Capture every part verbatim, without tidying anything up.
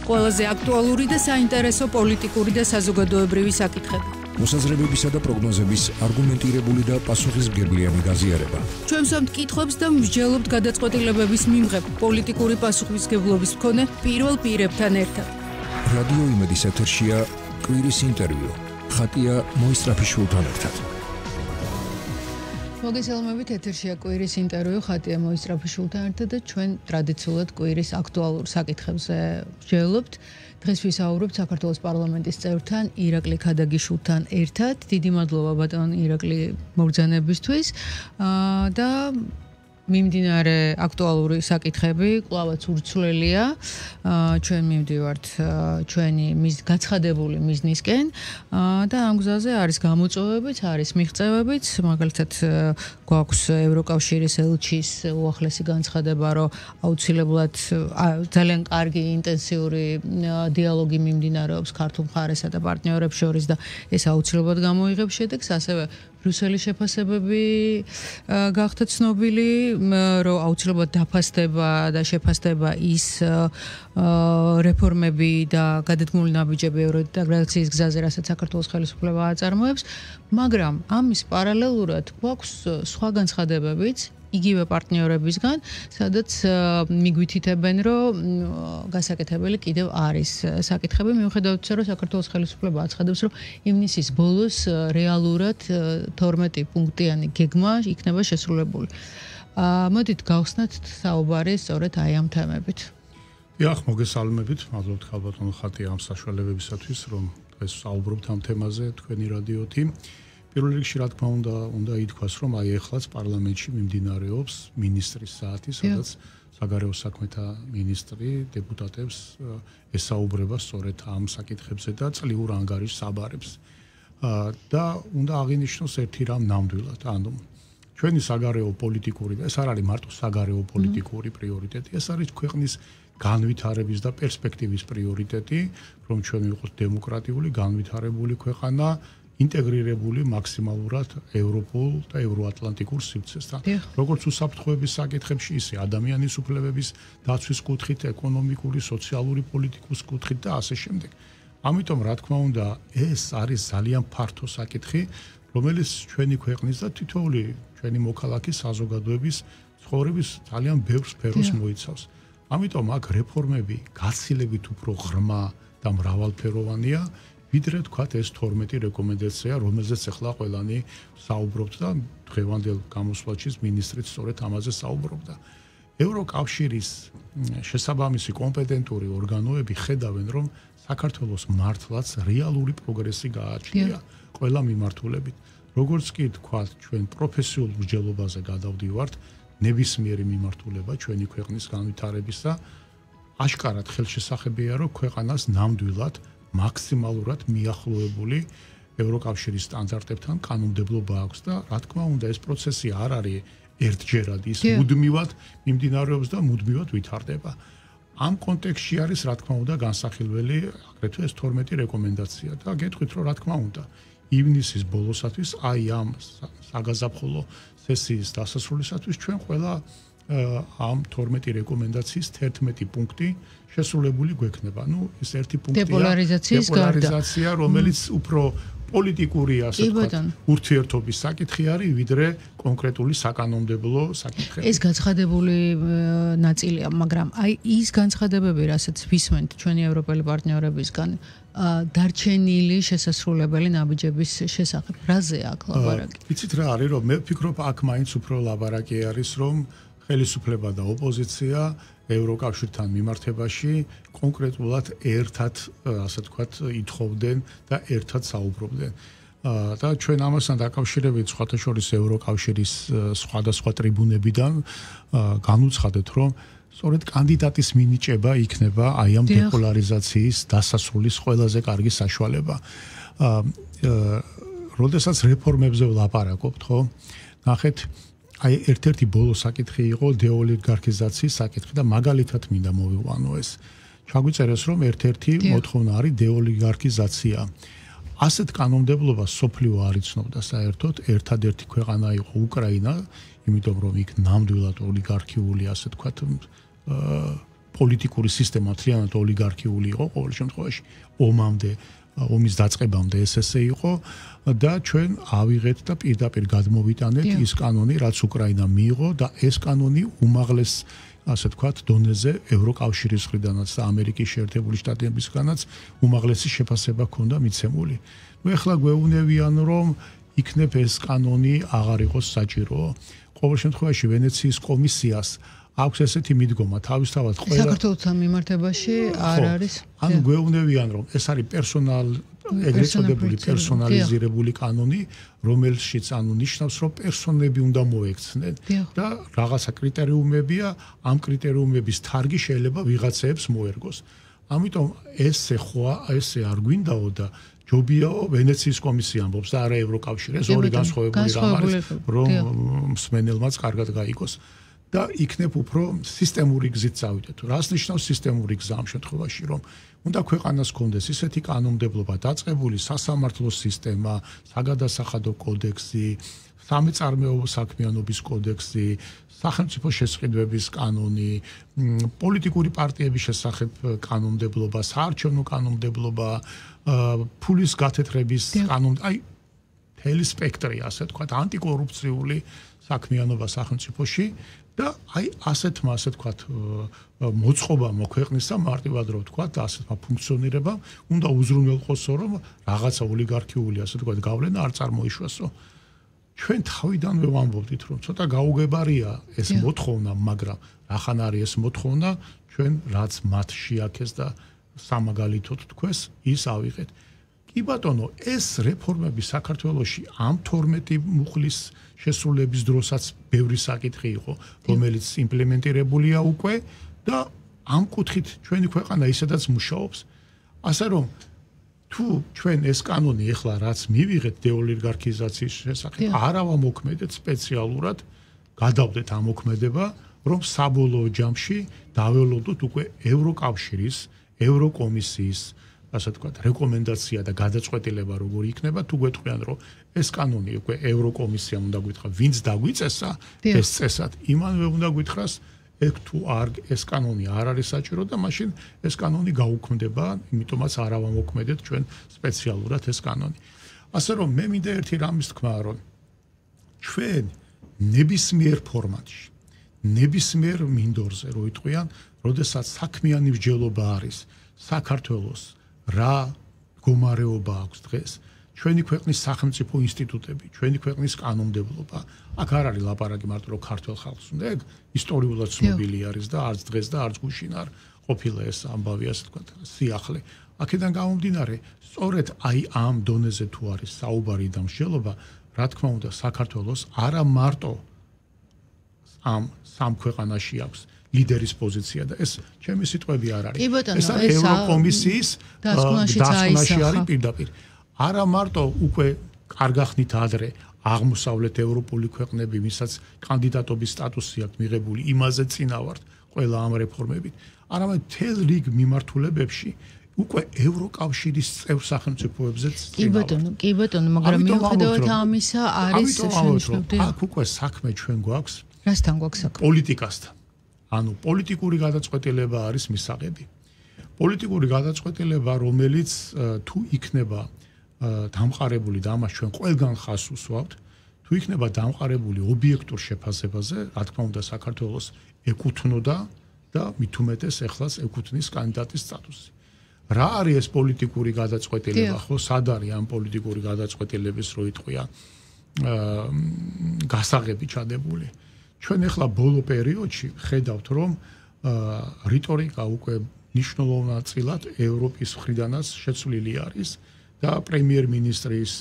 ყველაზე აქტუალური და საინტერესო პოლიტიკური და საზოგადოებრივი საკითხები. მოსაზრებებისა და პროგნოზების არგუმენტირებული და პასუხისმგებლიანი გაზიარება. ჩვენ ვსვამთ კითხვებს და ვმსჯელობთ გადაწყვეტილებების მიმღებ პოლიტიკური პასუხისმგებლობის მქონე პირველ პირებთან ერთად. რადიო იმედის ეთერშია კვირის ინტერვიუ. ხატია მოისტრაფიშვილთან ერთად. მოგესალმებით, ეთერშია კვირის ინტერვიუ ხატია მოისტრაფიშვილთან ერთად და ჩვენ ტრადიციულად კვირის აქტუალურ საკითხებზე ვსჯელობთ. დღეს ვისაუბრებთ საქართველოს პარლამენტის წევრთან ირაკლი ქადაგიშვილთან ერთად. დიდი მადლობა ბატონ ირაკლი მოგზანებისთვის და მიმდინარე აქტუალური საკითხები კვლავაც ურცლელია. ჩვენ მივდივართ ჩვენი მის გაცხადებული მიზნისკენ და ამ გზაზე არის გამოწვევებიც, არის მიღწევებიც, მაგალითად გვაქვს ევროკავშირის ელჩის უახლესი განცხადება, რომ აუცილებლად ძალიან კარგი ინტენსიური დიალოგი მიმდინარეობს ქართულ მხარესა და პარტნიორებს შორის და ეს აუცილებლად გამოიღებს შედეგს, ასევე ბრიუსელის შეფასებები გახდა ცნობილი, რომ აუცილებლად დაფასდება და შეფასდება ის რეფორმები და გადადგმული ნაბიჯები ევროინტეგრაციის გზაზე, რასაც საქართველოს ხელისუფლება აწარმოებს, მაგრამ ამის პარალელურად გვაქვს სხვა განცხადებებიც იგივე პარტნიორებისგან, სადაც მიგვითითებენ, რომ გასაკეთებელი კიდევ არის საკითხები, მიუხედავად იმისა, რომ საქართველოს ხელისუფლება აცხადებს, რომ ივნისის ბოლოს რეალურად თორმეტი პუნქტიანი გეგმა იქნება შესრულებული. მოდით გავხსნათ საუბარი სწორედ აი ამ თემებით. დიახ, მოგესალმებით, მადლობთ ხალბატონო ხატია ამ საშუალებებისათვის, რომ დღეს საუბრობთ ამ თემაზე თქვენი რადიოთი. პირველ რიგში რა თქმა უნდა, უნდა ითქვას, რომ აი ეხლაც პარლამენტში მიმდინარეობს მინისტრის საათი, სადაც საგარეო საქმეთა მინისტრი დეპუტატებს ესაუბრება სწორედ ამ საკითხებზე და წლიურ ანგარიშს აბარებს. და უნდა აღინიშნოს ერთი რამ ნამდვილად, ანუ ჩვენი საგარეო პოლიტიკური და ეს არ არის მარტო საგარეო პოლიტიკური პრიორიტეტი, ეს არის ქვეყნის განვითარების და პერსპექტივის პრიორიტეტი, რომ ჩვენ ვიყოთ დემოკრატიული, განვითარებული ქვეყანა, ინტეგრირებული მაქსიმალურად ევროპულ და ევროატლანტიკურ სივრცესთან. როგორც უსაფრთხოების საკითხებში, ისე ადამიანის უფლებების დაცვის კუთხით, ეკონომიკური, სოციალური პოლიტიკის კუთხით და ასე შემდეგ. ამიტომ, რა თქმა უნდა, ეს არის ძალიან ფართო საკითხი, რომელიც ჩვენი ქვეყნის და თითოეული ჩვენი მოქალაქის საზოგადოების ცხოვრების ძალიან ბევრ სფეროს მოიცავს. ამიტომ აქ რეფორმები გაცილებით უფრო ღრმა და მრავალფეროვანია, ვიდრე თქვათ ეს თორმეტი რეკომენდაცია, რომელზეც ახლა ყველანი საუბრობთ და დღევანდელ გამოსვლაში მინისტრიც სწორედ ამაზე საუბრობდა. ევროკავშირის შესაბამისი კომპეტენტური ორგანოები ხედავენ, რომ საქართველოს მართლაც რეალური პროგრესი გააჩნია ყველა მიმართულებით. როგორც კი თქვათ, ჩვენ პროფესიულ მსჯელობაზე გადავდივართ, ნებისმიერი მიმართულება ჩვენი ქვეყნის განვითარებისა, აშკარად ხელშესახებია, რომ ქვეყანას ნამდვილად მაქსიმალურად მიახლოებული ევროკავშირის სტანდარტებთან კანონმდებლობა აქვს და რა თქმა უნდა ეს პროცესი არ არის ერთჯერადი, ის მუდმივად მიმდინარეობს და მუდმივად ვითარდება. ამ კონტექსტში არის რა თქმა უნდა განსახილველი აგრეთვე ეს თორმეტი რეკომენდაცია და გეტყვით რომ რა თქმა უნდა ივნისის ბოლოსათვის აი ამ საგაზაფხულო სესიის დასასრულისათვის ჩვენ ყველა ამ თორმეტი რეკომენდაციის თერთმეტი პუნქტი შესრულებული გვექნება. ნუ ეს ერთი პუნქტია დეპოლარიზაციის გარდა, დეპოლარიზაცია, რომელიც უფრო პოლიტიკური ასე ვთქვათ, ურთიერთობის საკითხი არის, ვიდრე კონკრეტული საკანონმდებლო საკითხები. ეს გაცხადებული ნაწილია, მაგრამ აი ის განცხადებები, რასაც ვისმენთ ჩვენი ევროპელი პარტნიორებისგან, დარჩენილი შესასრულებელი ნაბიჯების შესახებ, რაზე აქ ლაბარაკი? ვიცით რა არის, რომ მე ვფიქრობ, აქ მაინც უფრო ლაბარაკი არის, რომ ხელისუფლება და ოპოზიცია ევროკავშირთან მიმართებაში კონკრეტულად ერთად, ასე ვთქვათ, ითხოვდნენ და ერთად საუბრობდნენ. და ჩვენ ამასთან დაკავშირებით სხვათა შორის ევროკავშირის სხვადასხვა ტრიბუნებიდან განუცხადეთ, რომ სწორედ კანდიდატის მინიჭება იქნება აი ამ დეპოლარიზაციის დასასრულის ყველაზე კარგი საშუალება. როდესაც რეფორმებზე ვლაპარაკობთ, ხო? ნახეთ, აი ერთ-ერთი ბოლო საკითხი იყო დეოლიგარქიზაციის საკითხი და მაგალითად მინდა მოვიყვანო ეს. ჩაგვიწერეს, რომ ერთ-ერთი მოთხოვნა არის დეოლიგარქიზაცია. ასეთ კანონმდებლობას სოფლიო არ იცნობდა საერთოდ, ერთადერთი ქვეყანა იყო უკრაინა, იმიტომ რომ იქ ნამდვილად ოლიგარქიული, ასე ვთქვათ, პოლიტიკური სისტემა მთლიანად ოლიგარქიული იყო ყოველ შემთხვევაში ომამდე ომის დაწყებამდე ეს ესე იყო და ჩვენ ავიღეთ და პირდაპირ გადმოვიტანეთ ის კანონი რაც უკრაინამ მიიღო და ეს კანონი უმაღლეს ასე ვთქვათ დონეზე ევროკავშირის მხრიდანაც და ამერიკის შეერთებული შტატებისგანაც უმაღლესი შეფასება ჰქონდა მიცემული. ნუ ეხლა გვეუბნებიან რომ იქნებ ეს კანონი აღარ იყოს საჭირო. ყოველ შემთხვევაში ვენეციის კომისიას აქვს ესეთი მიდგომა თავისთავად ყველა საქართველოსთან მიმართებაში არ არის. ანუ გვეუბნებიან რომ ეს არის პერსონალ ეგრეთ წოდებული პერსონალიზირებული კანონი, რომელშიც ანუ ნიშნავს რომ პერსონები უნდა მოექცნენ და რაღაცა კრიტერიუმებია, ამ კრიტერიუმების თარგი შეიძლება ვიღაცეებს მოერგოს. ამიტომ ესე ხო ესე არ გვინდაო და ჯობიაო ვენეციის კომისია ამბობს და არა ევროკავშირი, ეს ორი განსხვავებული რამ არის, რომ მსმენელმაც კარგად გაიგოს. და იქნებ უფრო სისტემური გზით წავიდეთ. რას ნიშნავს სისტემური გზა ამ შემთხვევაში, რომ უნდა ქვეყანას კონდეს ისეთი კანონმდებლობა დაწყებული სასამართლო სისტემა, საგადასახადო კოდექსი, სამეწარმეო საქმიანობის კოდექსი, სახელმწიფო შესყიდვების კანონი, პოლიტიკური პარტიების შესახებ კანონმდებლობა, საარჩევნო კანონმდებლობა, ფულის გათეთრების კანონ, აი მთელი სპექტრი, ასე ვთქვათ, ანტიკორუფციული საქმიანობა სახელმწიფოში და აი ასეთმა ასე ვთქვათ მოწყობა მოქვეყნისა მარტივად რო ვთქვათ ასეთმა ფუნქციონირებამ უნდა უზრუნველყოსო რომ რაღაცა ოლიგარქიული ასე ვთქვათ გავლენა არ წარმოიშვასო. ჩვენ თავიდანვე ვამბობდით რომ ცოტა გაუგებარია ეს მოთხოვნა, მაგრამ რახან არის ეს მოთხოვნა, ჩვენ რაც მათ შეაქეს და სამაგალითოდ თქვეს, ის ავიღეთ. კი ბატონო, ეს რეფორმები საქართველოში ამ თორმეტი მუხლის შესრულების დროსაც ბევრი საკითხი იყო, რომელიც იმპლემენტირებულია უკვე და ამ კუთხით ჩვენი ქვეყანა ისედაც მუშაობს. ასე რომ თუ ჩვენ ეს კანონი ეხლა რაც მივიღეთ დეოლიგარქიზაციის შესახებ, არ ავამოქმედეთ სპეციალურად, გადავდეთ ამ მოქმედება, რომ საბოლოო ჯამში დაველოდოთ უკვე ევროკავშირის, ევროკომისიის ასე ვთქვათ, რეკომენდაცია და გადაწყვეტილება როგორი იქნება, თუ გვეტყვიან, რომ ეს კანონი უკვე ევროკომისიამ უნდა გითხრა, ვინც დაგვიწესა ეს წესად, იმანვე უნდა გითხრას, ეგ თუ არ ეს კანონი არ არის საჭირო და მაშინ ეს კანონი გაუქმდება, იმიტომაც არ ავამოქმედეთ ჩვენ სპეციალურად ეს კანონი. ასე რომ მე მინდა ერთი რამის თქვა, რომ ჩვენ ნებისმიერ ფორმატში, ნებისმიერ მინდორზე რო იტყვიან, როდესაც საქმიანი მსჯელობა არის საქართველოს რა მდგომარეობა აქვს დღეს ჩვენი ქვეყნის სახელმწიფო ინსტიტუტები, ჩვენი ქვეყნის კანონმდებლობა. აქ არ არის ლაპარაკი მარტო რომ ქართულ ხალხს უნდა, ეგ ისტორიულად ცნობილი არის და არც დღეს და არც გუშინ არ ყოფილა ეს ამბავი, ასე ვთქვათ, სიახლე. აქედან გამომდინარე, სწორედ აი ამ დონეზე თუ არის საუბარი და მსჯელობა, რა თქმა უნდა, საქართველოს არა მარტო ამ სამ ქვეყანაში აქვს ლიდერის პოზიცია და ეს ჩემი სიტყვები არ არის. ეს ევროკომისიის დასკვნაში არის პირდაპირ. არა მარტო უკვე კარგახნით ადრე აღმოსავლეთ ევროპული ქვეყნები, ვისაც კანდიდატობის სტატუსი აქვს მიღებული, იმაზე წინავართ ყველა ამ რეფორმებით, არამედ მთელ რიგ მიმართულებებში უკვე ევროკავშირის წევრ სახელმწიფოებზეც წინავართ. კი ბატონო, კი ბატონო, მაგრამ მიუხედავად ამისა არის შენიშნული. აქ უკვე საქმე ჩვენ გვაქვს რასთან გვაქვს საქმე? პოლიტიკასთან. ანუ პოლიტიკური გადაწყვეტილება არის მისაღები. პოლიტიკური გადაწყვეტილება, რომელიც თუ იქნება დამყარებული და ამას ჩვენ ყველგან ხაზს უსვამთ, თუ იქნება დამყარებული ობიექტურ შეფასებაზე, რა თქმა უნდა საქართველოს ეკუთვნოდა და მით უმეტეს ეხლაც ეკუთვნის კანდიდატის სტატუსი. რა არის ეს პოლიტიკური გადაწყვეტილება, ხო, სად არის ამ პოლიტიკური გადაწყვეტილების რო იტყვია გასაღები ჩადებული? ჩვენ ახლა ბოლო პერიოდში ხედავთ, რომ რიტორიკა უკვე მნიშვნელოვნად ევროპის მხრიდანაც შეცვლილი არის და პრემიერ-მინისტრის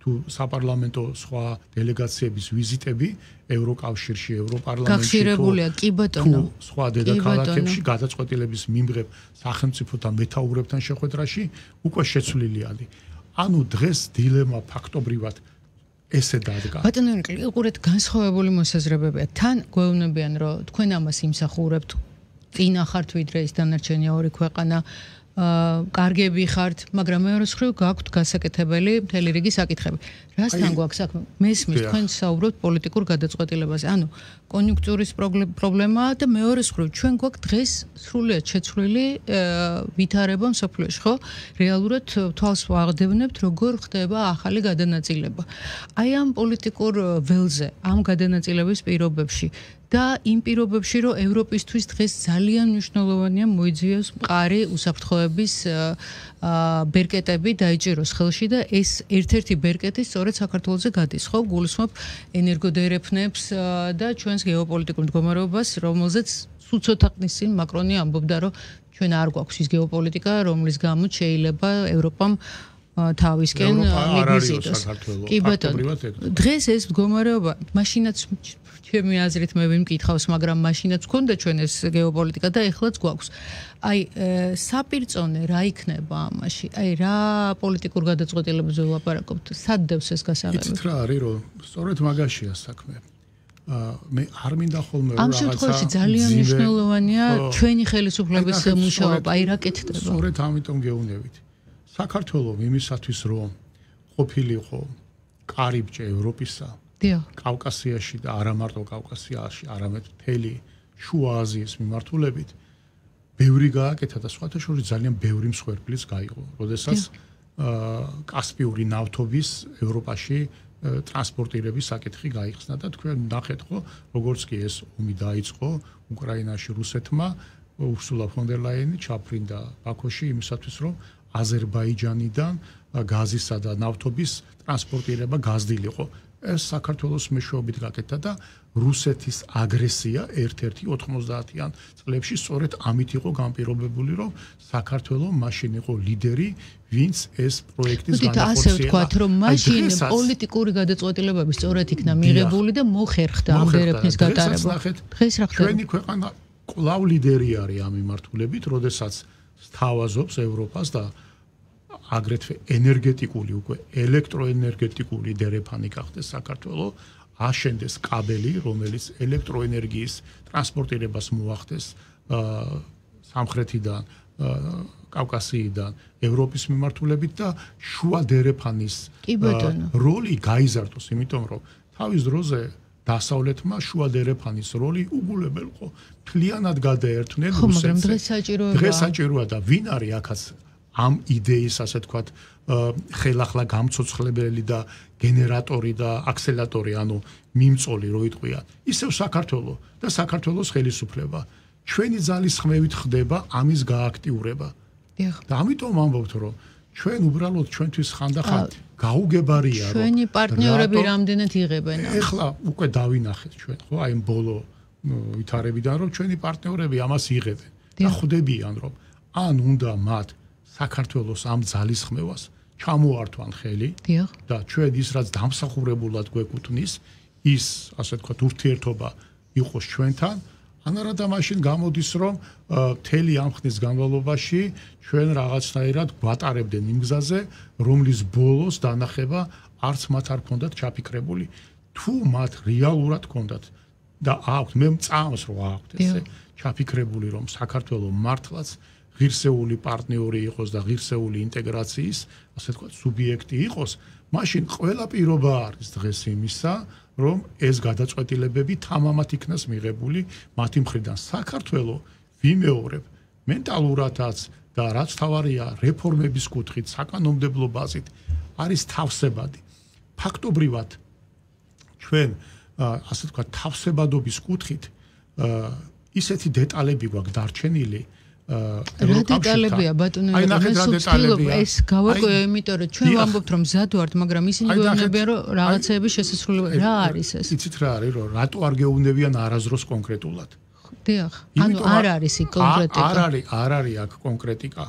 თუ საპარლამენტო სხვა დელეგაციების ვიზიტები ევროკავშირში, ევროპარლამენტში გახშირებულია, კი ბატონო, სხვა დედაქალაქებში გადაწყვეტილების მიმღებ სახელმწიფოთა მეთაურებთან შეხვედრაში უკვე შეცვლილი არის. ანუ დღეს დილემა ფაქტობრივად ესე დადგა. ბატონო, უყურეთ, განსხვავებული მოსაზრებებია. თან გვეუბნებიან, რომ თქვენ ამას იმსახურებთ, წინა ხართ ვიდრე ის დანარჩენი ორი ქვეყანა, კარგები ხართ, მაგრამ მეორე მხრივ გაქვთ გასაკეთებელი მთელი რიგი საკითხები. რასთან გვაქვს საქმე? მესმის თქვენ საუბრობთ პოლიტიკურ გადაწყვეტილებაზე. ანუ კონიუნქტურის პრობლემაა და მეორე მხრივ ჩვენ გვაქვს დღეს სრულიად შეცვლილი ვითარება მსოფლიოში, ხო? რეალურად თვალს ვაღდებნებთ, როგორ ხდება ახალი გადანაწილება. აი ამ პოლიტიკურ ველზე, ამ გადანაწილების პირობებში და იმ პირობებში, რომ ევროპისთვის დღეს ძალიან მნიშვნელოვანია მოიძიოს მყარი უსაფრთხოების ბერკეტები დაიჭიროს ხელში და ეს ერთ-ერთი ბერკეტი სწორედ საქართველოზე გადის, ხო? გულისხმობ ენერგოდერეფნებს და ჩვენს გეოპოლიტიკურ მდგომარეობას, რომელზეც სულ ცოტა ხნის წინ მაკრონი ამბობდა, რომ ჩვენ არ გვაქვს ის გეოპოლიტიკა, რომლის გამოც შეიძლება ევროპამ თავისკენ მივიზიტოს. კი ბატონო, დღეს ეს მდგომარეობა მაშინაც ჩემი აზრით მე ვიმკითხავს, მაგრამ მაშინაც გქონდა ჩვენ ეს გეოპოლიტიკა და ეხლაც გვაქვს. აი საპირწონე რა იქნება ამაში? აი რა პოლიტიკურ გადაწყვეტილებებზე ვლაპარაკობთ? სად დევს ეს გასაღები? იცით რა არის, რომ სწორედ მაგაშია საქმე. მე არ მინდა ხოლმე რომ რაღაცა ამ შემთხვევაში ძალიან მნიშვნელოვანია ჩვენი ხელისუფლების მუშაობა, აი რა კეთდება? სწორედ ამიტომ გეუნებით. საქართველოს იმისათვის რომ ყოფილიყო კარიბჭე ევროპისა, კავკასიაში და არა მარტო კავკასიაში, არამედ მთელი შუა აზიის მიმართულებით ბევრი გააკეთა და სხვათა შორის ძალიან ბევრი მსხვერპლიც გაიყო, როდესაც კასპიური ნავთობის ევროპაში ტრანსპორტირების საკითხი გაიხსნა და თქვენ ნახეთ ხო, როგორც კი ეს ომი დაიწყო უკრაინაში რუსეთმა, ურსულა ფონ დერ ლაიენი ჩაფრინდა ბაქოში იმისათვის რომ აზერბაიჯანიდან გაზისა და ნავთობის ტრანსპორტირება გაზრდილიყო. ეს საქართველოს მეშვეობით გაკეთდა და რუსეთის აგრესია ერთ-ერთი ოთხმოცდაათიან წლებში სწორედ ამით იყო განპირობებული, რომ საქართველოს მაშინ იყო ლიდერი, ვინც ეს პროექტის განახორციელა. ასე ვთქვათ, რომ მაშინ პოლიტიკური გადაწყვეტილებები სწორედ იქნა მიღებული და მოხერხდა ამ დერეფნის გატარება. დღეს რა ხდება? ჩვენი ქვეყანა კვლავ ლიდერი არის ამ მიმართულებით, როდესაც სთავაზობს ევროპას და აგრეთვე ენერგეტიკული უკვე ელექტროენერგეტიკული დერეფანი გახდეს საქართველოს, აშენდეს კაბელი, რომელიც ელექტროენერგიის ტრანსპორტირებას მოახდეს სამხრეთიდან, კავკასიიდან, ევროპის მიმართულებით და შუა დერეფანის როლი გაიზარდოს, იმიტომ რომ თავის დროზე დასავლეთმა შუა დერეფანის როლი უგულებელყო. მთლიანად გადაერთნენ რუსეთს. დღეს საჭიროა. დღეს საჭიროა და ვინ არის აქაც ამ იდეის, ასე თქვათ, ხელახლა გამცოცხლებელი და გენერატორი და აქსელატორი, ანუ მიმწოლი, რო იტყვია. ისევ საქართველოს და საქართველოს ხელისუფლება. ჩვენი ძალისხმევით ხდება ამის გააქტიურება. და ამიტომ ამბობთ, რომ ჩვენ უბრალოდ ჩვენთვის ხანდახან გაუგებარია, რომ ჩვენი პარტნიორები რამდენად იღებენ. ეხლა უკვე დავინახეთ ჩვენ, ხო, აი ბოლო ვითარებიდან, რომ ჩვენი პარტნიორები ამას იღებენ და ხვდებიან, რომ ან უნდა მათ საქართველოს ამ ძალისხმევას ჩამოართვან ხელი და ჩვენ ის რაც დამსახურებულად გვეკუთვნის, ის, ასე ვთქვათ, ურთიერთობა იყოს ჩვენთან, ანარა და მაშინ გამოდის, რომ მთელი ამ ხნის განმავლობაში ჩვენ რაღაცნაირად გვატარებდნენ იმ გზაზე, რომლის ბოლოს დანახება არც მათ არ ქონდათ ჩაფიქრებული. თუ მათ რეალურად ქონდათ და აქვთ, მე მწამს რომ აქვთ ესე ჩაფიქრებული, რომ საქართველოს მართლაც ღირსეული პარტნიორი იყოს და ღირსეული ინტეგრაციის, ასე ვთქვათ, სუბიექტი იყოს, მაშინ ყველა პირობა არის დღეს იმისა, რომ ეს გადაწყვეტილებები თამამად იქნას მიღებული მათი მხრიდან. საქართველოს ვიმეორებ მენტალურადაც და რაც თავარია რეფორმების კუთხით, საკანონმდებლო ბაზით არის თავსებადი. ფაქტობრივად ჩვენ ასე ვთქვათ, თავსებადობის კუთხით ისეთი დეტალები გვაქვს დარჩენილი, რა დეტალებია ბატონო, ეს გავაკეთე, იმიტომ რომ ჩვენ ვამბობთ რომ მზად ვართ, მაგრამ ისინი გვეუბნებიან რომ რაღაცეების შესაძლებლობა რა არის ეს? იცით რა არის, რომ რატო არ გეუბნებიან არაზროს კონკრეტულად? დიახ, ანუ არ არის იქ კონკრეტიკა. არ არის, არ არის აქ კონკრეტიკა.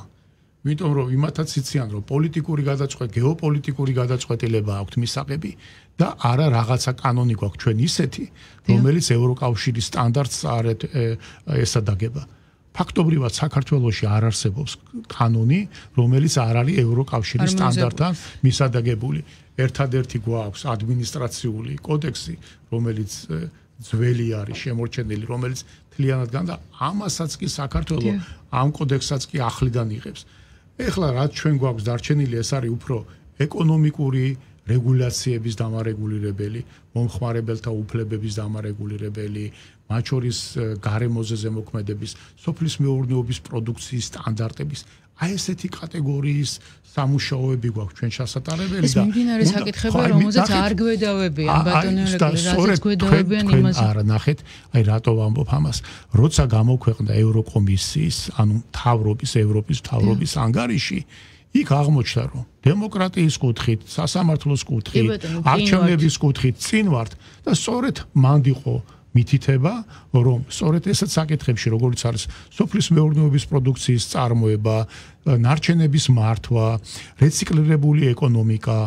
იმიტომ რომ იმათაც იციან რომ პოლიტიკური გადაწყვეტ, გეოპოლიტიკური გადაწყვეტილება აქვთ მისაღები და არა რაღაცა კანონი გვაქვს ჩვენ ისეთი, რომელიც ევროკავშირის სტანდარტს არ ესადაგება. ფაქტობრივად საქართველოში არ არსებობს კანონი, რომელიც არ არის ევროკავშირის სტანდარტთან მისადაგებული. ერთადერთი გვაქვს ადმინისტრაციული კოდექსი, რომელიც ძველი არის, შემორჩენილი, რომელიც მთლიანად გან და ამასაც კი საქართველოს ამ კოდექსსაც კი ახლიდან იღებს. ეხლა რაც ჩვენ გვაქვს დარჩენილი, ეს არის უფრო ეკონომიკური, რეგულაციების დამარეგულირებელი, მომხმარებელთა უფლებების დამარეგულირებელი, მათ შორის გარემოზე ზემოქმედების, სოფლის მეურნეობის პროდუქციის სტანდარტების აი ესეთი კატეგორიის სამუშაოები გვაქვს ჩვენ შესაძლებელი და ეს მიმდინარე საკითხები რომელზეც არ გვედავებიან ბატონო რაზეც გვედავებიან იმას არა ნახეთ აი რატო ვამბობ ამას როცა გამოქვეყნდა ევროკომისიის ანუ მთავრობის ევროპის მთავრობის ანგარიში იქ აღმოჩნდა რომ დემოკრატიის კუთხით სასამართლოს კუთხით არჩევნების კუთხით წინ ვართ და სწორედ მანდ იყო მითითება რომ სწორედ ესეთ საკითხებში როგორც არის სოფლის მეურნეობის პროდუქციის წარმოება, ნარჩენების მართვა, რეციკლირებული ეკონომიკა,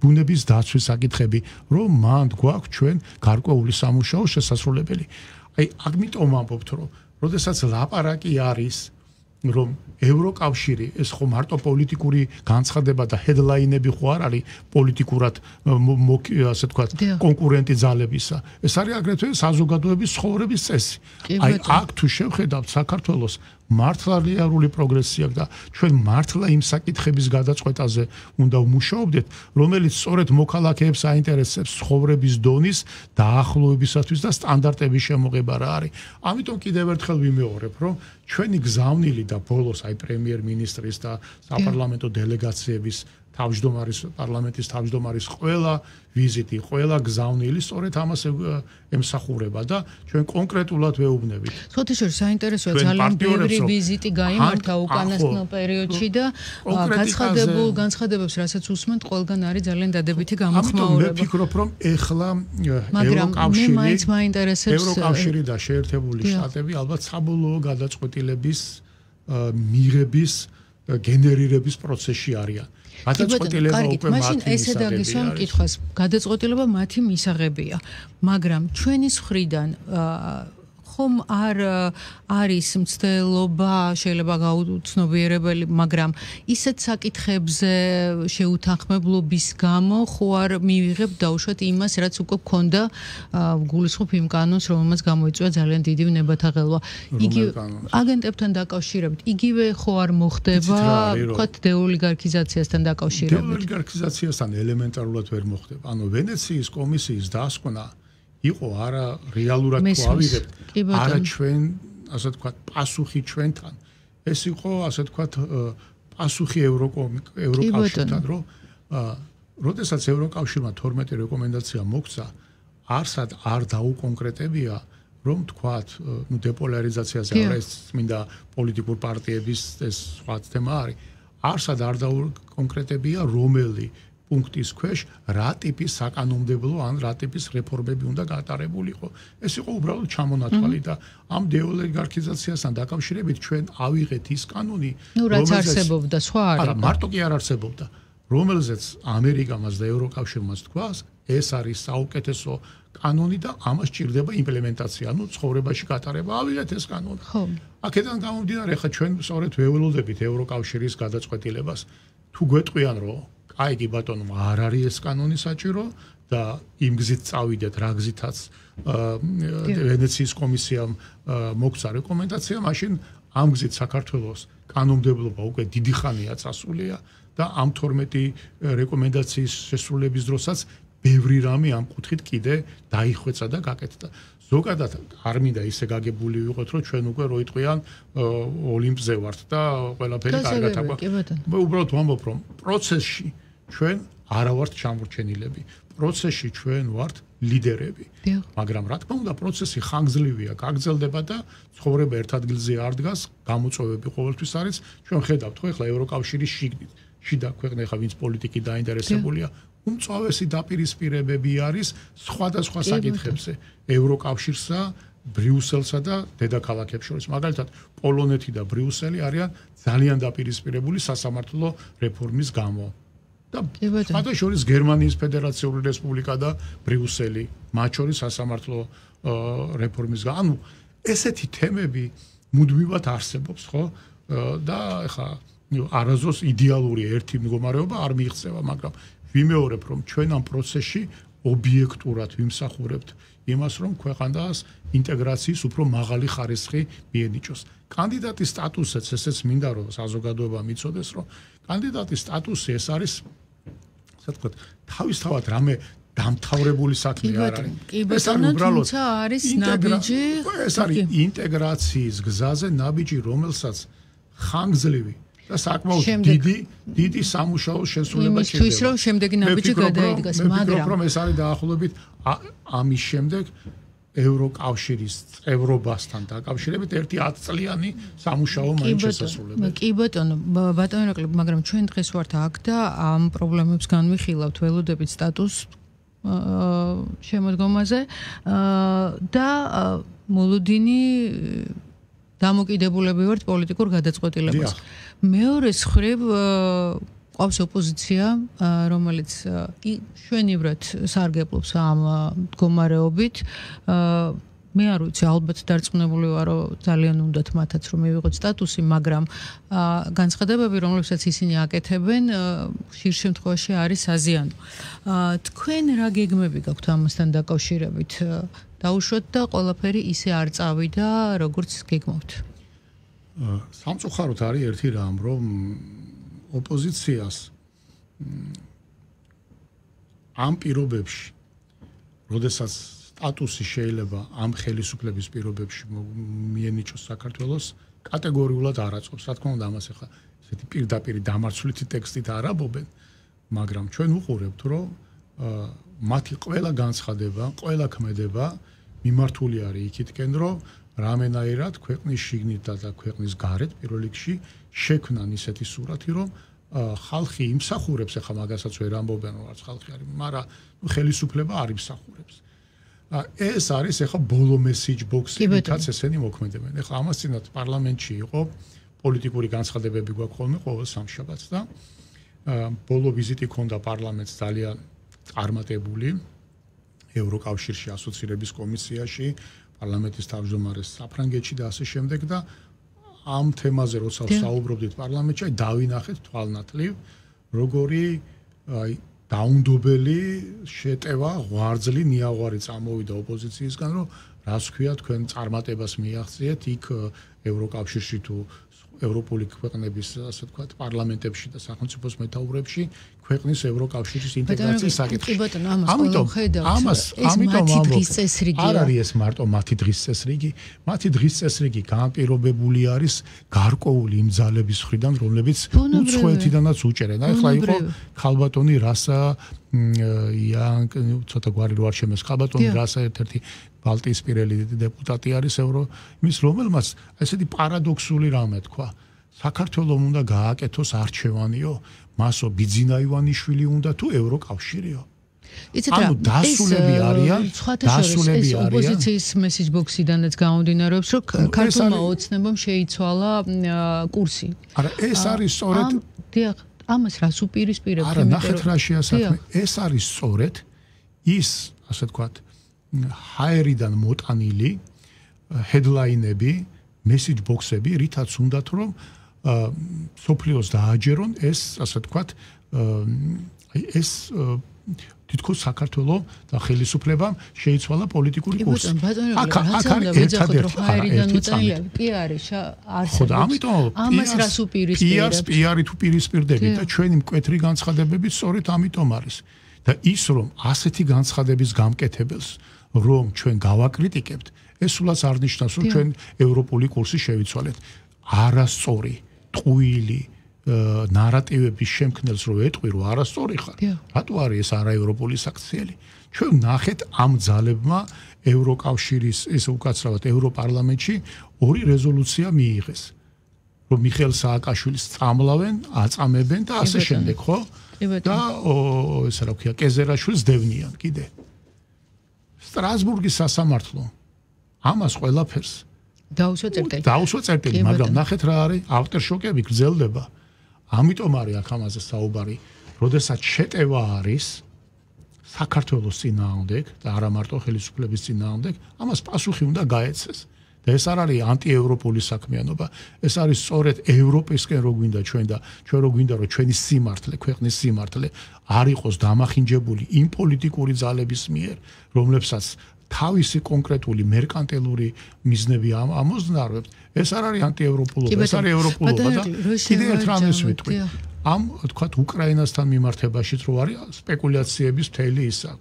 ბუნების დაცვის საკითხები, რომ მანდ გვაქვს ჩვენ გარკვეული სამუშაო შესასრულებელი. აი, ამიტომ ვამბობთ, რომ როდესაც ლაპარაკი არის რომ ევროკავშირი ეს ხო მარტო პოლიტიკური განცხადება და ჰედლაინები ხო არ არის პოლიტიკურად ასე თქვა კონკურენტი ძალებისა ეს არის აგრეთვე საზოგადოების ცხოვრების წესი აი აქ თუ შევხედავთ საქართველოს მართლა რეალური პროგრესია და ჩვენ მართლა იმ საკითხების გადაწყვეტაზე უნდა ვმუშაობდეთ რომელიც სწორედ მოქალაქეებს აინტერესებს ცხოვრების დონის დაახლოებისათვის და სტანდარტების შემოღება რა არის ამიტომ კიდევ ერთხელ ვიმეორებ რომ ჩვენი გზავნილი და ბოლოს აი პრემიერ-მინისტრის და საპარლამენტო დელეგაციების თავმჯდომარის პარლამენტის თავმჯდომარის ყველა ვიზიტი, ყველა გზავნილი სწორედ ამას ემსახურება და ჩვენ კონკრეტულად ვეუბნებით. სხვათა შორის საინტერესოა ძალიან ბევრი ვიზიტი გაიმართა უკანასკნელ პერიოდში და განცხადებულ განცხადებებს რასაც უსმენთ, ყველგან არის ძალიან დადებითი გამოხმაურება. ამიტომ მე ვფიქრობ რომ ეხლა ევროკავშირი მაინც მაინტერესებს ევროკავშირი და შეერთებული შტატები ალბათ საბოლოო გადაწყვეტილების მიღების გენერირების პროცესში არიან. გადაწყვეტილება უკვე მათი ესე დაგისვამ კითხვას გადაწყვეტილება მათი მისაღებია მაგრამ ჩვენის მხრიდან ხომ არ არის მცდელობა შეიძლება გაუცნობიერებელი მაგრამ ისეთ საკითხებზე შეუთანხმებლობის გამო ხო არ მივიღებ დაუშვათ იმას რაც უკვე გქონდა გულისხმობ იმ კანონს რომელმაც გამოიწვია ძალიან დიდი ნებათაღელვა იგი აგენტებთან დაკავშირებით იგივე ხო არ მოხდება ვთქვათ დეოლიგარქიზაციასთან დაკავშირებით დეოლიგარქიზაციასთან ელემენტარულად ვერ მოხდება ანუ ვენეციის კომისიის დასკვნა იყო არა რეალურად თუ ავიღებთ არა ჩვენ ასე ვთქვათ პასუხი ჩვენთან ეს იყო ასე ვთქვათ პასუხი ევროკავშირთან რომ როდესაც ევროკავშირმა თორმეტი რეკომენდაცია მოგცა არსად არ დაუკონკრეტებია რომ ვთქვათ ნუ დეპოლარიზაციაზე არა ეს წმინდა პოლიტიკურ პარტიების ეს სხვა თემა არის არსად არ დაუკონკრეტებია რომელი პუნქტის ქვეშ რა ტიპის საკანონმდებლო ან რა ტიპის რეფორმები უნდა გატარებულიყო. ეს იყო უბრალოდ ჩამონათვალი და ამ დეოლიგარქიზაციასთან დაკავშირებით ჩვენ ავიღეთ ის კანონი, რომელიც არსებობდა, სხვა არის. არა, მარტო კი არ არსებობდა. რომელზეც ამერიკამაც და ევროკავშირმაც თქვას, ეს არის საუკეთესო კანონი და ამას ჭირდება იმპლემენტაცია, ანუ ცხოვრებაში გატარება. ავიღეთ ეს კანონი. ხო. აქედან გამომდინარე, ხა ჩვენ სწორედ ვეველოდებით ევროკავშირის გადაწყვეტილებას. თუ გვეტყვიან, რომ აი კი ბატონო არ არის ეს კანონი საჭირო და იმ გზით წავიდეთ რა გზითაც ვენეციის კომისიამ მოგცა რეკომენდაცია მაშინ ამ გზით საქართველოს კანონმდებლობა უკვე დიდი ხანია წასულია და ამ თორმეტი რეკომენდაციის შესრულების დროსაც ბევრი რამე ამ კუთხით კიდე დაიხვეწა და გაკეთდა ზოგადად არ მინდა ისე გაგებული ვიყოთ რომ ჩვენ უკვე რო იტყვიან ოლიმპზე ვართ და ყველაფერი კარგად აქვს უბრალოდ ვამბობ რომ პროცესში ჩვენ არა ვართ ჩამორჩენილები პროცესში ჩვენ ვართ ლიდერები მაგრამ რა თქმა უნდა პროცესი ხანგრძლივია გაგრძელდება და ცხოვრება ერთ ადგილზე არ დგას გამოწვევები ყოველთვის არის ჩვენ ხედავთ ხო ეხლა ევროკავშირის შიგნით შიდა ქვეყნები ხა ვინც პოლიტიკით დაინტერესებულია უმწვავესი დაპირისპირებები არის სხვადასხვა საკითხებზე ევროკავშირსა ბრიუსელსა და დედაქალაქებს შორის მაგალითად პოლონეთი და ბრიუსელი არიან ძალიან დაპირისპირებული სასამართლო რეფორმის გამო და მათ შორის გერმანიის ფედერაციული რესპუბლიკა და ბრიუსელი მათ შორის სასამართლო რეფორმის გამო ანუ ესეთი თემები მუდმივად არსებობს ხო და ეხა არაზოს იდეალური ერთი მდგომარეობა არ მიიღწევა მაგრამ ვიმეორებ რომ ჩვენ ამ პროცესში ობიექტურად ვიმსახურებთ იმას რომ ქვეყანას ინტეგრაციის უფრო მაღალი ხარისხი მიენიჭოს კანდიდატის სტატუსიც ესეც მინდა რომ საზოგადოება მიცოდეს რომ კანდიდატის სტატუსი ეს არის ასე ვთქვათ, თავისთავად რამე დამთავრებული საქმე არ არის. ეს არის უბრალოდ არის ნაბიჯი, ეს არის ინტეგრაციის გზაზე ნაბიჯი, რომელსაც ხანგრძლივი და საკმაოდ დიდი დიდი სამუშაო შესრულება ჭირდება. იმისთვის რომ შემდეგი ნაბიჯი გადაიდგას, მაგრამ რომ ეს არის დაახლოებით ამის შემდეგ ევროკავშირის წევრობასთან დაკავშირებით ერთი ათი წლიანი სამუშაო მაინც შესასრულებელი. კი ბატონო, ბატონო ირაკლი, მაგრამ ჩვენ დღეს ვართ აქ და ამ პრობლემებს განვიხილავთ, ველოდებით სტატუსს შემოდგომაზე და მოლოდინი დამოკიდებულები ვართ პოლიტიკურ გადაწყვეტილებას. მეორე მხრივ ყავს ოპოზიცია, რომელიც შვენივრად სარგებლობს ამ მდგომარეობით. მე არ ვიცი, ალბათ დარწმუნებული ვარ, რომ ძალიან უნდათ მათაც რომ მივიღოთ სტატუსი, მაგრამ განცხადებები, რომლებსაც ისინი აკეთებენ, ხშირ შემთხვევაში არის საზიანო. თქვენ რა გეგმები გაქვთ ამასთან დაკავშირებით? დაუშვათ და ყველაფერი ისე არ წავიდა, როგორც გეგმობთ. სამწუხაროდ არის ერთი რამ, რომ ოპოზიციას ამ პირობებში, როდესაც სტატუსი შეიძლება ამ ხელისუფლების პირობებში მიენიჭოს საქართველოს, კატეგორიულად არ აწევს. რა თქმა უნდა, ამას ახლა ესეთი პირდაპირ დამარცვლითი ტექსტით არ ამბობენ, მაგრამ ჩვენ ვუყურებთ, რომ მათი ყველა განცხადება, ყველა ქმედება მიმართული არის იქითკენ, რომ რამენაირად ქვეყნის შიგნით და ქვეყნის გარეთ პირველ რიგში შექმნან ისეთი სურათი, რომ ხალხი იმსახურებს, ახლა მაგასაც ვერ ამბობენ, რომ არც ხალხი არის, მაგრამ ხელისუფლება არ იმსახურებს. ეს არის ახლა ბოლო message box-ი, რითაც ესენი მოქმედებენ. ახლა ამას წინათ პარლამენტში იყო პოლიტიკური განცხადებები გვაქვს ხოლმე ყოველ სამშაბათს და ბოლო ვიზიტი ქონდა პარლამენტს ძალიან წარმატებული ევროკავშირში ასოცირების კომისიაში, პარლამენტის თავმჯდომარეს საფრანგეთში და ასე შემდეგ და ამ თემაზე როცა საუბრობდით პარლამენტში, აი დავინახეთ თვალნათლივ, როგორი აი დაუნდობელი შეტევა, ღვარძლი, ნიაღვარი წამოვიდა ოპოზიციისგან, რომ რას ქვია თქვენ წარმატებას მიაღწიეთ იქ ევროკავშირში თუ ევროპული ქვეყნების, ასე ვთქვათ, პარლამენტებში და სახელმწიფოს მეთაურებში ქვეყნის ევროკავშირის ინტეგრაციის საკითხი. ამიტომ ამას ამიტომ არ არის ეს მარტო მათი დღის წესრიგი, მათი დღის წესრიგი განპირობებული არის გარკვეული იმ ძალების მხრიდან, რომლებიც უცხოეთიდანაც უჭერენ. ახლა იყო ქალბატონი რასა იან ცოტა გვარი რო არ შემეს ქალბატონი რასა ერთ-ერთი ბალტიისპირელი დეპუტატი არის ევრო იმის რომელმაც ესეთი პარადოქსული რამე თქვა საქართველოს უნდა გააკეთოს არჩევანიო მასო ბიძინა ივანიშვილი უნდა თუ ევროკავშირიო იცით რა დასულები არიან დასულები არიან ოპოზიციის message box-იდანაც გამომდინარეობს რომ ქართულმა ოცნებამ შეიცვალა კურსი არა ეს არის სწორედ დიახ ამას რას უპირისპირებთ არა ნახეთ რა შეასაქმე ეს არის სწორედ ის ასე ვთქვათ ჰაერიდან მოტანილი headline-ები, message box-ები, რითაც უნდათ რომ სოფლიოს დააჯერონ ეს, ასე ვთქვათ, ეს თითქოს საქართველოს და ხელისუფლებამ შეიცვალა პოლიტიკური კურსი. აქ აქ არის ერთადერთი ჰაერიდან მოტანილი კი არის არსებობს. ხო და ამიტომ ამას რას უპირისპირებთ? პიარს თუ პირისპირდები და ჩვენი მკვეთრი განცხადებები სწორედ ამიტომ არის. და ის რომ ასეთი განცხადების გამკეთებელს რომ ჩვენ გავაკრიტიკებთ, ეს სულაც არ ნიშნავს, რომ ჩვენ ევროპული კურსი შევიცვალეთ. არასწორი, ტყუილი ნარატივების შემქმნელს რო ეტყვი, რომ არასწორი ხარ. რატო არის ეს არაევროპული საქციელი? ჩვენ ნახეთ ამ ძალებმა ევროკავშირის, ესე უკაცრავად ევროპარლამენტში ორი რეზოლუცია მიიღეს. რომ მიხეილ სააკაშვილის წამლავენ, აწამებენ და ასე შემდეგ, ხო? და ესე რა ქვია, კეზერაშვილს დევნიან კიდე. სტრასბურგის სასამართლო ამას ყველაფერს დაუსვა წერტილი. დაუსვა წერტილი, მაგრამ ნახეთ რა არის, ავტორშოკები გრძელდება. ამიტომ არის აქ ამაზე საუბარი, როდესაც შეტევა არის საქართველოს წინააღმდეგ და არა მარტო ხელისუფლების წინააღმდეგ, ამას პასუხი უნდა გაეცეს. და ეს არ არის ანტიევროპული საქმიანობა, ეს არის სწორედ ევროპისკენ რო გვინდა ჩვენ და ჩვენ რო გვინდა რომ ჩვენი სიმართლე, ქვეყნის სიმართლე არ იყოს დამახინჯებული იმ პოლიტიკური ძალების მიერ, რომლებსაც თავისი კონკრეტული მერკანტილური მიზნები ამოზნარებთ, ეს არ არის ანტიევროპულობა, ეს არის ევროპულობა და კიდევ ერთ რამეს ვიტყვი. ამ თქვათ უკრაინასთან მიმართებაშიც რო არის სპეკულაციების მთელი ისა.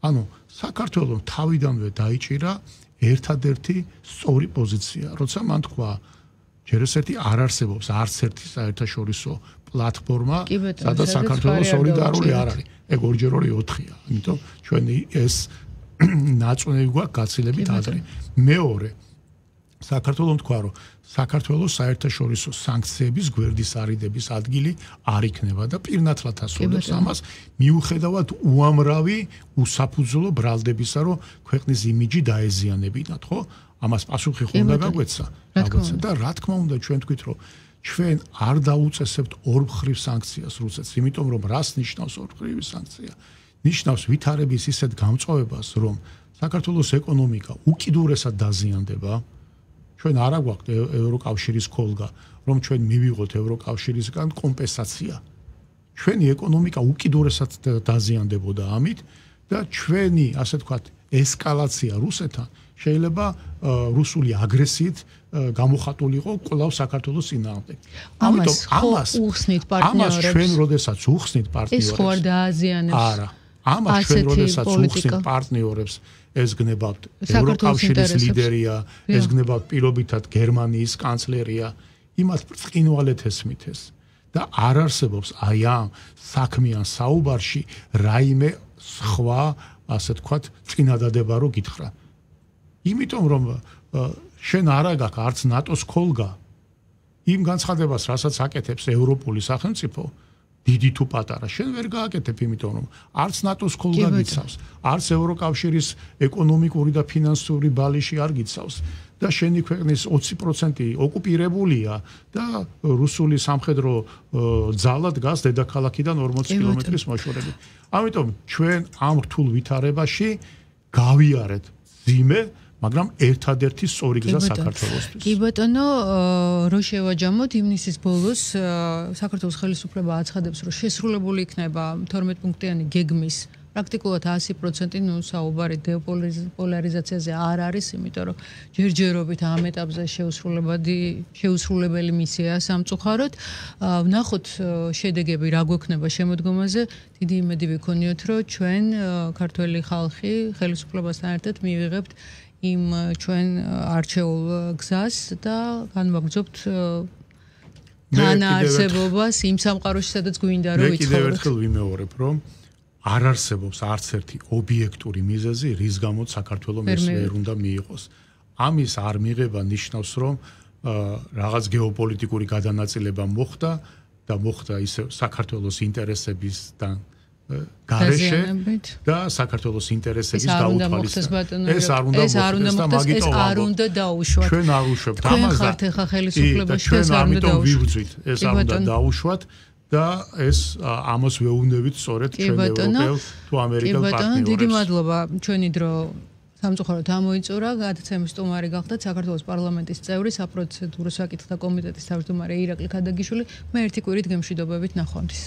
ანუ საქართველოს თავიდანვე დაიჭირა ერთადერთი სწორი პოზიცია, როცა მან თქვა ჯერ ესეთი არ არსებობს არც ერთი საერთაშორისო პლატფორმა, სადაც საქართველოს სოლიდარული არ არის. ეგ ორჯერ ორი ოთხია. ამიტომ ჩვენი ეს ნაწუნები გვაქვს გაცილებით ადრე. მეორე საქართველოს თქვა რომ საქართველოს საერთაშორისო სანქციების გვერდის არიდების ადგილი არ იქნება და პირნათლად ასრულებს ამას მიუხედავად უამრავი უსაფუძვლო ბრალდებისა, რომ ქვეყნის იმიჯი დაეზიანებინათ, ხო? ამას პასუხი ხო უნდა გაგვეცა, გაგვეცა და რა თქმა უნდა ჩვენ თქვით რომ ჩვენ არ დაუწესებთ ორმხრივ სანქციას რუსეთს, იმიტომ რომ რას ნიშნავს ორმხრივი სანქცია? ნიშნავს ვითარების ისეთ გამწვავებას, რომ საქართველოს ეკონომიკა უკიდურესად დაზიანდება. ჩვენ არ აგვაქვს ევროკავშირის ქოლგა, რომ ჩვენ მივიღოთ ევროკავშირისგან კომპენსაცია. ჩვენი ეკონომიკა უკიდურესად დაზიანდებოდა ამით და ჩვენი, ასე ვთქვათ, ესკალაცია რუსეთთან შეიძლება რუსული აგრესიით გამოხატულიყო კვლავ საქართველოს წინააღმდეგ. ამიტომ ამას უხსნით პარტნიორებს. ამას ჩვენ როდესაც უხსნით პარტნიორებს. ეს ხო არ დააზიანებს. არა. ამას ჩვენ როდესაც უხსნით პარტნიორებს ეს გნებავთ ევროკავშირის ლიდერია, ეს გნებავთ პირობითად გერმანიის კანცლერია, იმათ ბრწყინვალეთ ესმით ეს და არ არსებობს აი ამ საქმიან საუბარში რაიმე სხვა, ასე თქვათ, წინადადება რო გითხრა. იმიტომ რომ შენ არა გაქვს არც ნატოს ქოლგა იმ განცხადებას, რასაც აკეთებს ევროპული სახელმწიფო, დიდი თუ პატარა, შენ ვერ გააკეთებ, იმიტომ რომ არც ნატოს ქოლგა გიცავს, არც ევროკავშირის ეკონომიკური და ფინანსური ბალიში არ გიცავს და შენი ქვეყნის ოცი პროცენტი ოკუპირებულია და რუსული სამხედრო ძალა დგას დედაქალაქიდან ორმოცი კილომეტრის მოშორებით. ამიტომ ჩვენ ამ რთულ ვითარებაში გავიარეთ ძიმე, მაგრამ ერთადერთი სწორი გზა საქართველოსთვის. კი ბატონო, რო შევაჯამოთ ივნისის ბოლოს საქართველოს ხელისუფლება აცხადებს, რომ შესრულებული იქნება თორმეტ პუნქტიანი გეგმის პრაქტიკულად ასი პროცენტი, ნუ საუბარი დეოპოლარიზაციაზე არ არის, იმიტომ რომ ჯერჯერობით ამ ეტაპზე შეუსრულებადი შეუსრულებელი მისია სამწუხაროდ. ვნახოთ შედეგები რა გვექნება შემოდგომაზე. დიდი იმედი ვიქონიოთ, რომ ჩვენ ქართველი ხალხი ხელისუფლებასთან ერთად მივიღებთ იმ ჩვენ არჩეულ გზას და განვაგრძობთ თანაარსებობას იმ სამყაროში, სადაც გვინდა რომ ვიცხოვროთ. მე კიდევ ერთხელ ვიმეორებ, რომ არ არსებობს არც ერთი ობიექტური მიზეზი, რის გამოც საქართველოს ეს ვერ უნდა მიიღოს. ამის არ მიღება ნიშნავს, რომ რაღაც გეოპოლიტიკური გადანაწილება მოხდა და მოხდა ისე საქართველოს ინტერესებისთან გარეშე და საქართველოს ინტერესების გაუთვალისწინება. ეს არ უნდა მოხდეს, ეს არ უნდა დაუშვათ. ჩვენ არ უშვებთ ამას. ჩვენ ხართ ახლა ხელისუფლებაში და ეს არ უნდა დაუშვათ. ეს არ უნდა დაუშვათ და ეს ამას ვეუბნებით სწორედ ჩვენ ევროპელ თუ ამერიკელ პარტნიორებს. დიდი მადლობა, ჩვენი დრო სამწუხაროდ ამოიწურა, გადაცემის სტუმარი გახდათ საქართველოს პარლამენტის წევრი, საპროცედურო საკითხთა კომიტეტის თავმჯდომარე ირაკლი ქადაგიშვილი. მე ერთი კვირით გემშვიდობებით ნახვამდის.